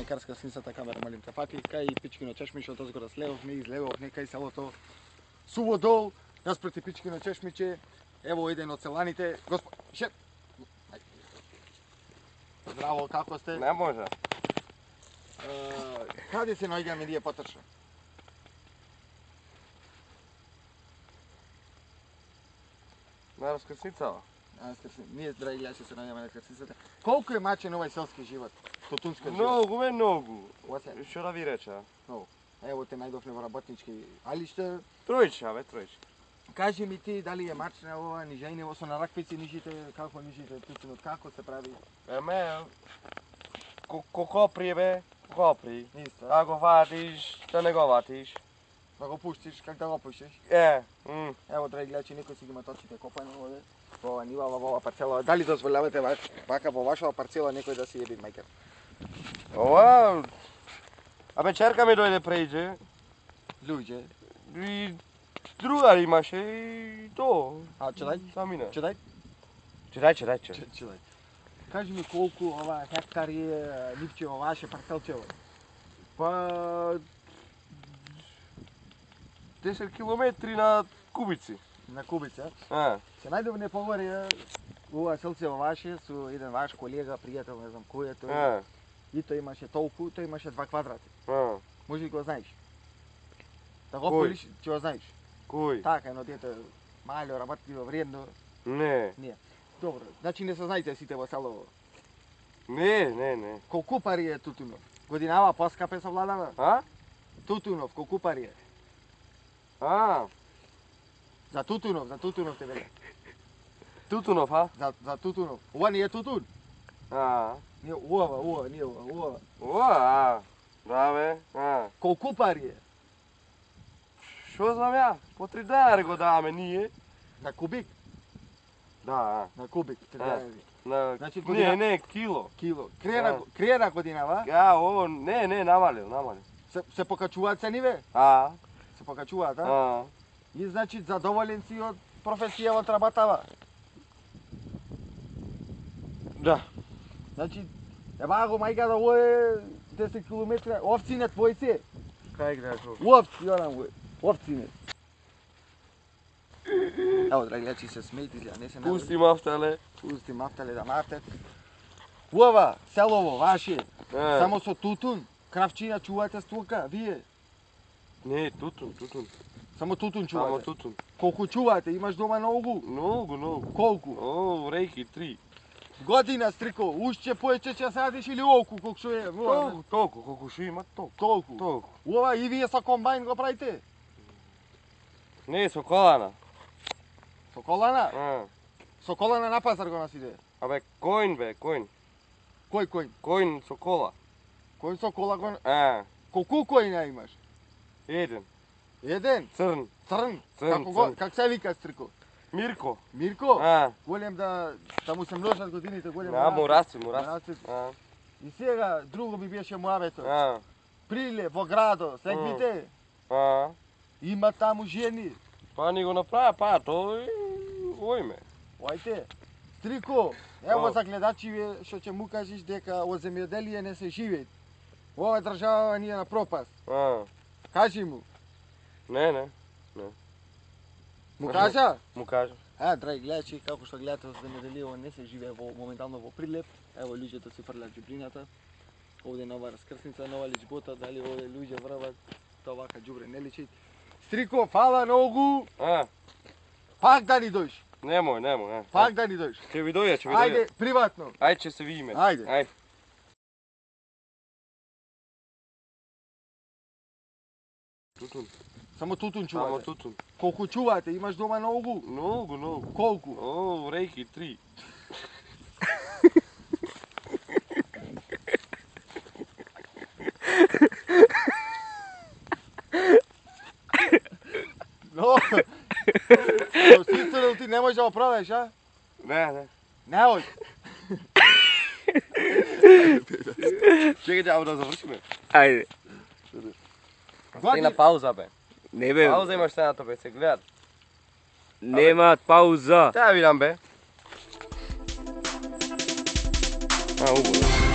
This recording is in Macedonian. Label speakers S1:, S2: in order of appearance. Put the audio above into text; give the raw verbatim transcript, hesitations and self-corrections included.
S1: Карска синсата камера, малим те пати, кај Пичкино чешмиче, од озгора слевовме, излевовме, кај селото Суводол, наспроти Пичкино чешмиче, ево еден од селаните, господ... Ше... Здраво, како сте?
S2: Не може.
S1: Каде се наоѓаме ние поточно?
S2: На раскрсницава.
S1: Ние, драги гледачи, се наоѓаме на раскрсницата. Колку е мачен овај селски живот? Тотунска живот?
S2: Многу, ме многу.
S1: Осе?
S2: Што да ви реча?
S1: Многу. Ево те најдовме во работнички. Али што...
S2: Тројче, бе, тројче.
S1: Кажи ми ти дали е мачна ова, нижајне, со на раквици нижите, како нижите тутунот, како се прави?
S2: Еме, кокопри, бе, кокопри.
S1: Исто.
S2: А го ватиш, да не го ватиш.
S1: Да го пуштиш, как да го пуштиш?
S2: Е, м.
S1: Ево, драги гледачи, некој си ги има точите копани овде. Во ова нива, во ова парцела. Дали дозволявате вака во вашава парцела некој да си еби мајкер?
S2: Ова... Абе, черка ми дојде прејде.
S1: Луѓе.
S2: И другар имаше и то.
S1: А, чедај?
S2: Самина.
S1: Чедај?
S2: Чедај, чедај, чедај.
S1: Чедај. Кажи ми колку ова хектари е нивче во ваше парцелчево?
S2: Па... десет километри на кубици.
S1: На кубица?
S2: А.
S1: Се најдовне поговори ова селце во ваше со еден ваш колега, пријател, не знам кој е тој.
S2: А.
S1: И тој имаше толку, тој имаше два квадрати.
S2: А.
S1: Може ли го знаеш? Да го
S2: Кој?
S1: полиш, ќе го знаеш.
S2: Кој?
S1: Така, едно дете мало, работливо, вредно.
S2: Не.
S1: Не. Добро, значи не се знаете сите во село.
S2: Не, не, не.
S1: Колку пари е Тутунов? Годинава поскапе со владава?
S2: А?
S1: Тутунов, колку пари е?
S2: А.
S1: За Тутунов, за Тутунов те веле.
S2: Тутунов, а?
S1: За, за Тутунов. Ова не е Тутун.
S2: А.
S1: Не, ова, ова, не ова, ова.
S2: Ова, а. Да, бе. А.
S1: Колку пари е?
S2: Шо знам ја? По три денари го даваме ние.
S1: На кубик?
S2: Да, а.
S1: На кубик, три
S2: А.
S1: денари.
S2: На...
S1: Значи, година-
S2: Не, не, кило.
S1: Кило. Криена,
S2: А.
S1: криена годинава,
S2: А, о, не, не, намалил, намалил.
S1: се, се покачуваат цениве?
S2: А.
S1: Се покачуваат, а?
S2: А.
S1: И значи задоволен си од професија од работава.
S2: Да.
S1: Значи, ева го мајка да оe десет километри, овци твои се.
S2: Кај гледаш го?
S1: Овци, јорам го, овци. Ево, драги гледачи, се смејте, изгледа, не се наводи.
S2: Пусти мафтале.
S1: Пусти мафтале да мафтат. Ова, селово, ваше,
S2: А.
S1: само со тутун, кравчина чувате стука, вие.
S2: Не, тутун, тутун.
S1: Само тутун
S2: Само
S1: чувате.
S2: тутун.
S1: Колку чувате, имаш дома многу?
S2: Многу, многу.
S1: Колку?
S2: О, рейки, три.
S1: Година, стрико, уште поече ќе садиш или олку, колку што е?
S2: Толку, толку, колку шо има, толку.
S1: Толку.
S2: Толку.
S1: Ова и вие со комбајн го правите?
S2: Не, со колана.
S1: Со колана?
S2: А.
S1: Со колана на пазар го носите?
S2: Абе, коин бе, коин.
S1: Кој кој?
S2: Коин со кола.
S1: Кој со кола го...
S2: А,
S1: Колку којна имаш?
S2: еден.
S1: Еден?
S2: Црн.
S1: Црн?
S2: Црн,
S1: Како го...
S2: црн.
S1: Как се вика стрико?
S2: Мирко.
S1: Мирко?
S2: А.
S1: Голем да... да му се множат годините, голем
S2: А, му расти, му
S1: да
S2: расти.
S1: расте.
S2: А.
S1: И сега, друго ми беше муабето.
S2: А.
S1: Приле, во градо, сегмите,
S2: А.
S1: има таму жени.
S2: Па ни го направа, па тој ојме.
S1: Оајте, стрико, ево
S2: А.
S1: за гледачиве што ќе му кажеш дека од земјоделие не се живее. Ова држава ни е на пропаст.
S2: А.
S1: Кажи му.
S2: Не, не.
S1: Му кажа?
S2: Му кажа.
S1: А, драги гледачи, како што гледате од земјоделие не се живее во моментално во Прилеп. Ево луѓето си фрлат џубрината. Овде нова раскрсница, нова личбота, дали овде луѓе врват, тоа вака џубре не личи. Стрико, фала многу.
S2: А.
S1: Пак да ни дојш.
S2: Немој, немој. А.
S1: Пак да ни дојш.
S2: Ќе ви дојде, ќе ви дојде.
S1: Ајде, приватно.
S2: Ајде, ќе се видиме.
S1: Ајде.
S2: Ајде. Тутун.
S1: Само тутун
S2: Само
S1: чувате.
S2: тутун.
S1: Колку чувате? Имаш дома многу?
S2: Многу, многу.
S1: Колку?
S2: О, рейки, три.
S1: Но, со сицерил ти не можеш да го продаш, а?
S2: Не, не.
S1: Не ој.
S2: Чекaj, ама да завршиме.
S3: Ајде.
S2: Стигна пауза, бе.
S3: Не бе.
S2: Пауза имаш сцената, бе, се гледат.
S3: Нема пауза.
S2: Та ја видам, бе. А, убаво.